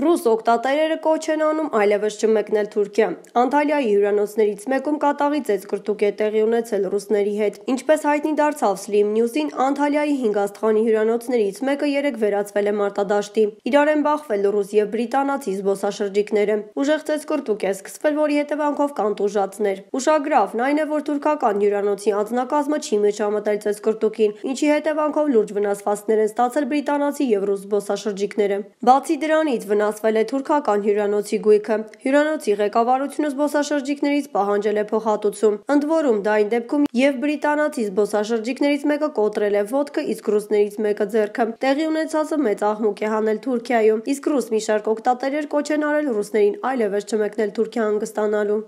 Ռուս օգտատերերը կոչ են անում այլևս չմեկնել Թուրքիա։ Անտալիայի հյուրանոցներից մեկում կատաղի ծեծկռտուք է տեղի ունեցել ռուսների հետ։ Ինչպես հայտնի դարձավ Slim News-ին, Անտալիայի 5 աստղանի հյուրանոցներից մեկը երեկ վերածվել է մարտադաշտի։ Իրար են բախվել ռուս եւ բրիտանացի զբոսաշրջիկները։ Ուժեղ ծեծկռտուք է սկսվել, որի հետևանքով կան տուժածներ։ Ուշագրավն այն է, որ թուրքական հյուրանոցի անձնակազմը չի միջամտել ծեծկռտուքին, ինչի հետևանքով լուրջ վնասվածքներ են ստացել բրիտանացի եւ ռուս զբոսաշրջիկները։ Բացի դրանից վնասվել է թուրքական հյուրանոցի գույքը։ Հյուրանոցի ղեկավարությունը զբոսաշրջիկներից պահանջել է փոխհատուցում։ Ընդ որում, դա այն դեպքում եւ բրիտանացի զբոսաշրջիկներից մեկը կոտրել է ոտքը, իսկ ռուսներից մեկը ձեռքը։ Տեղի ունեցածը մեծ աղմուկ է հանել Թուրքիայում, իսկ ռուս մի շարք օգտատերեր կոչ են արել ռուսներին այլևս չմեկնել Թուրքիա հանգստանալու։